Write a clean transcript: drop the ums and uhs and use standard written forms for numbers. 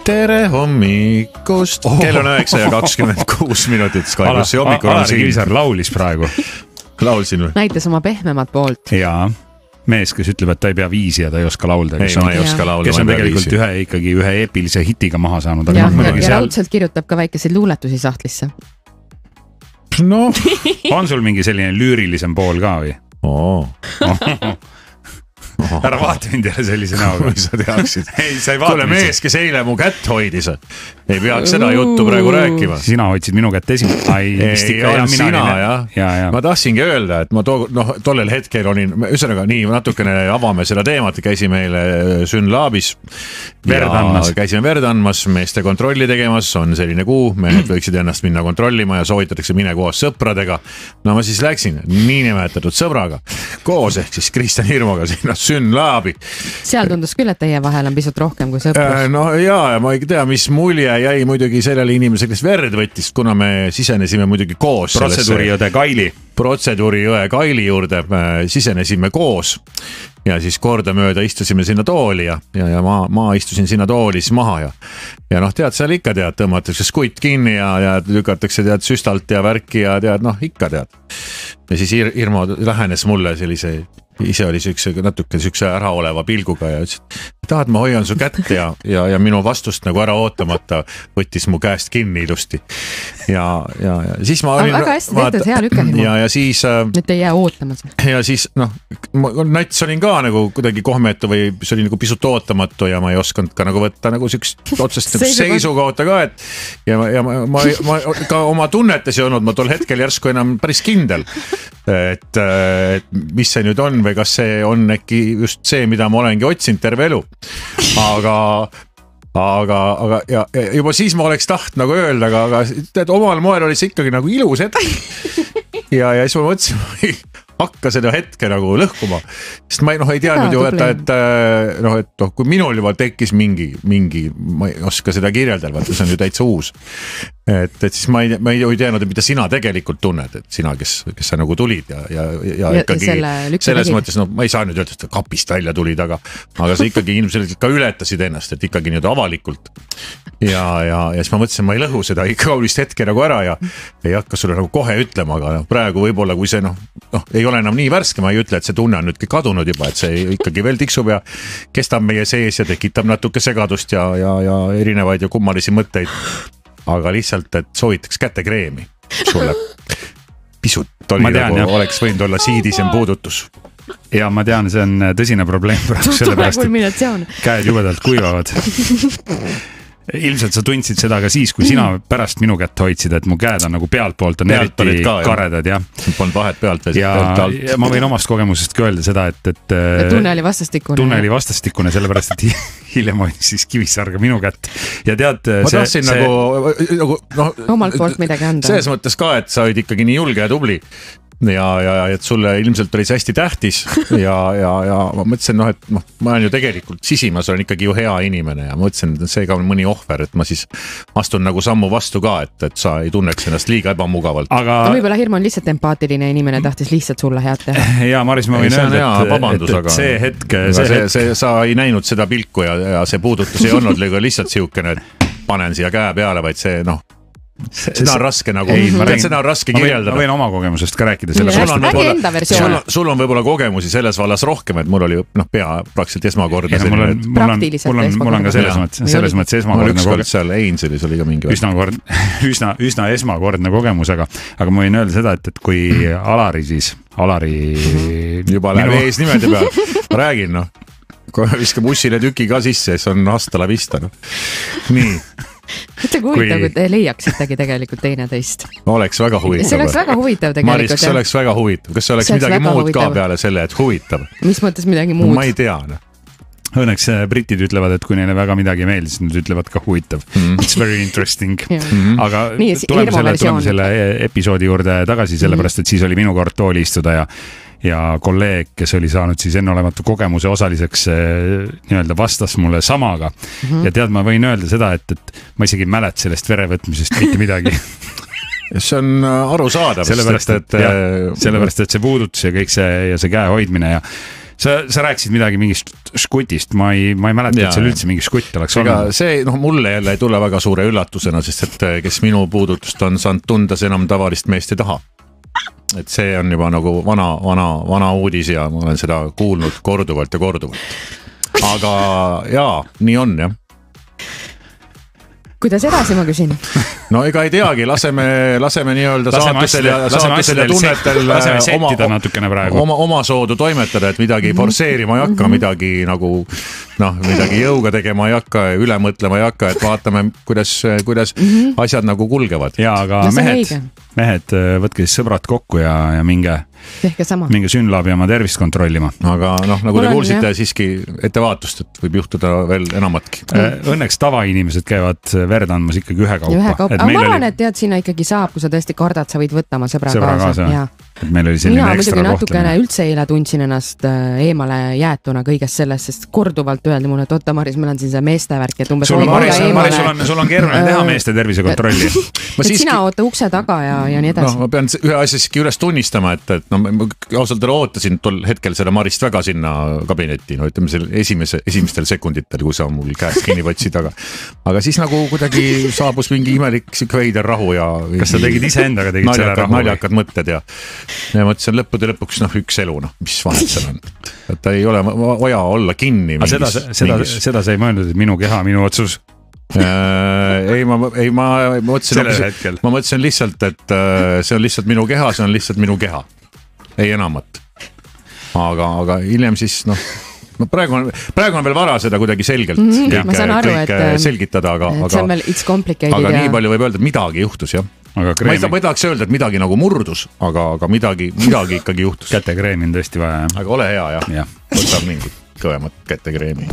tere hommikust. Kell on 9:26 Sky plussi hommikul. Alari Kivisaar laulis praegu. Laulsin või? Näitas oma pehmemat poolt. Jaa, mees, kes ütleb, et ta ei pea viisi ja ta ei oska laulda. Ei, ma ei oska laulda. Kes on tegelikult ühe eepilise hitiga maha saanud. Ja raudselt kirjutab ka väikeseid luuletusi sahtlisse. No. On sul mingi selline lüürilisem pool ka või? Ära vaata mind jälle sellise näoga. Kui sa teaksid. Ei, sa ei vaata. Kuule mees, kes eile mu kätt hoidis. Ei peaks seda juttu praegu rääkima. Sina hoidsid minu kätt esimene. Ei olnud sina, jah. Ma tahtsingi öelda, et ma tollel hetkel olin, ühesõnaga nii natukene avame seda teemat, käisime eile Synlabis. Käisime verd andmas, meeste kontrolli tegemas, on selline kuu, mehed võiksid ennast minna kontrollima ja soovitatakse mine koos sõpradega. No ma siis läksin niinimetatud sõbraga koos ehk siis Kristjan Hirmuga sinna Synlabi. Seal tundus küll, et teie vahel on pisut rohkem kui sõprus. No ja ma ei tea, mis mulje jäi muidugi sellele inimesele, kes verd võttis, kuna me sisenesime muidugi koos. Protseduuriõe Kaili juurde sisenesime koos ja siis kordamööda istusime sinna tooli ja ma istusin sinna tooli siis maha ja noh, tead, seal ikka tead, tõmmatakse skutt kinni ja lükatakse tead süstalt ja värki ja tead, noh, ikka tead. Ja siis Irmo lähenes mulle sellise, ise oli natuke sükse äraoleva pilguga ja ütles, tahad, ma hoian su kätt ja minu vastust nagu ära ootamata võttis mu käest kinni ilusti. Ja siis ma olin... Väga hästi tehtud, hea lükka Hirmu. Ja siis... Nüüd ei jää ootamas. Ja siis, noh, nats olin ka nagu kuidagi kohmetu või see oli nagu pisut ootamatu ja ma ei osanud ka nagu võtta nagu sükst otsest seisukohta ka, et ja ma ka oma tunnetes ei olnud, ma tol hetkel järsku enam päris kindel, et mis see nüüd on või kas see on äkki just see, mida ma olengi otsinud terve elu. Aga ja juba siis ma oleks taht nagu öelda, aga tead, omal moel oli see ikkagi nagu ilus hetk. Ja siis ma mõtlesin, hakka seda hetke nagu lõhkuma, sest ma ei teadnud ju, et kui minul juba tekkis mingi, ma ei oska seda kirjeldada, see on ju täitsa uus. Et siis ma ei teadnud, mida sina tegelikult tunned, et sina, kes sa nagu tulid ja ikkagi selles mõttes, ma ei saa nüüd öelda, et kapist välja tulid, aga sa ikkagi inimesed ka ületasid ennast, et ikkagi nüüd avalikult. Ja siis ma mõtlesin, ma ei lõhu seda ikka kaulist hetke nagu ära ja ei hakka sulle nagu kohe ütlema, aga praegu võib-olla, kui see ei ole enam nii värske, ma ei ütle, et see tunne on nüüdki kadunud juba, et see ikkagi veel tiksub ja kestab meie sees ja tekitab natuke segadust ja erinevaid ja kummalisi mõtteid. Aga lihtsalt, et soovitaks kätekreemi sulle. Pisut oli nagu oleks võinud olla siidisem puudutus. Ja ma tean, see on tõsine probleem praegu sellepärast, et käed jubedalt kuivavad. Ilmselt sa tundsid seda ka siis, kui sina pärast minu kätt hoidsid, et mu käed on nagu pealtpoolt on eriti karedad. Polnud vahet pealt. Ja ma võin omast kogemusest ka öelda seda, et tunne oli vastastikune. Tunne oli vastastikune, sellepärast, et hiljem hoidis siis Kivisaar ka minu kätt. Ja tead, ma tahtsin nagu omalt poolt midagi anda. Selles mõttes ka, et sa olid ikkagi nii julge ja tubli. Ja et sulle ilmselt oli see hästi tähtis ja ma mõtlesin, et ma olen ju tegelikult sisimas, olen ikkagi ju hea inimene ja ma mõtlesin, et see ka on mõni ohver, et ma siis astun nagu sammu vastu ka, et sa ei tunneks ennast liiga ebamugavalt. Aga võib-olla Hirmu on lihtsalt empaatiline inimene, tahtis lihtsalt sulle head teha. Ja Maris, ma võin öelda, et see hetk... Sa ei näinud seda pilku ja see puudutus ei olnud lihtsalt siukene, et panen siia käe peale, vaid see seda on raske nagu, seda on raske kirjeldada. Ma võin oma kogemusest ka rääkida. Sul on võib-olla kogemusi selles vallas rohkem, et mul oli pea praktiliselt esmakordne. Mul on ka selles mõttes esmakordne kogemus. Seal Ainselis oli ka mingi üsna esmakordne kogemus, aga ma võin öelda seda, et kui Alari juba läheb eesnimede peal, ma räägin, kui viskab ussile tüki ka sisse, siis on hasta la vista. Nii. Mõtle kui huvitav, kui te leiaksitegi tegelikult teineteist. Oleks väga huvitav. See oleks väga huvitav tegelikult. Maris, kas see oleks väga huvitav? Kas see oleks midagi muud ka peale selle, et huvitav? Mis mõttes midagi muud? Ma ei tea. Õnneks britid ütlevad, et kui neile väga midagi meeldis, nad ütlevad ka huvitav. It's very interesting. Aga tuleme selle episoodi juurde tagasi, sellepärast, et siis oli minu kord tooli istuda ja kolleeg, kes oli saanud siis enneolematu kogemuse osaliseks nii-öelda vastas mulle samaga. Ja tead, ma võin öelda seda, et ma isegi mäleta sellest verevõtmisest mitte midagi. See on arusaadav. Sellepärast, et see puudutus ja kõik see käe hoidmine ja sa rääkisid midagi mingist skutist, ma ei mäleta, et seal üldse mingi skutt oleks olnud. See mulle jälle ei tule väga suure üllatusena, sest et kes minu puudutust on saanud tunda, see enam tavalist meest ei taha. Et see on juba nagu vana uudis ja ma olen seda kuulnud korduvalt ja korduvalt. Aga jaa, nii on jah. Kuidas edasi, ma küsin? No ega ei teagi, laseme nii-öelda saatusel ja tunnetel oma soodu toimetada, et midagi forseerima ei hakka, midagi nagu midagi jõuga tegema ei hakka, üle mõtlema ei hakka, et vaatame, kuidas asjad nagu kulgevad. Jaa, aga mehed, võtke siis sõbrad kokku ja minge Synlabi oma tervist kontrollima. Aga nagu te kuulsite siiski ettevaatust, et võib juhtuda veel enamatki. Õnneks tavainimesed käivad verd andmas ikkagi ühe kaupa. Aga ma arvan, et tead, sinna ikkagi saab, kui sa tõesti kardad, sa võid võtta oma sõbra kaasa. Et meil oli selline ekstra kohtlemine. Mina muidugi üldse eile tundsin ennast eemale jäetuna kõigest sellest, sest korduvalt öeldi mulle, et oota Maris, meil on siin see meestevärk. Sul on keeruline teha meeste tervisekontrolli. Sina oota ukse taga ja nii edasi. Ma pean ühe asja siiski üles tunnistama, et ma ausalt ootasin tol hetkel seda Marist väga sinna kabinetti, ütleme selle esimestel sekunditel, kui sa mul käest kinni võtsid, aga siis nagu kuidagi saabus mingi imelik veider rahu ja kas sa tegid ise endaga naljakad mõtted ja mõtlesin lõppude lõpuks üks elu, mis vahet seal on. Et ei ole vaja olla kinni. Seda sa ei mõelnud, et minu keha, minu otsus? Ma mõtlesin lihtsalt, et see on lihtsalt minu keha, see on lihtsalt minu keha. Ei enamat. Aga hiljem siis, praegu on veel vara seda kuidagi selgelt selgitada, aga nii palju võib öelda, et midagi juhtus, jah. Ma ei tahaks öelda, et midagi nagu murdus, aga midagi ikkagi juhtus. Kätekreemi on tõesti vaja. Aga ole hea, jah. Võtab mingit kõvemat kätekreemi.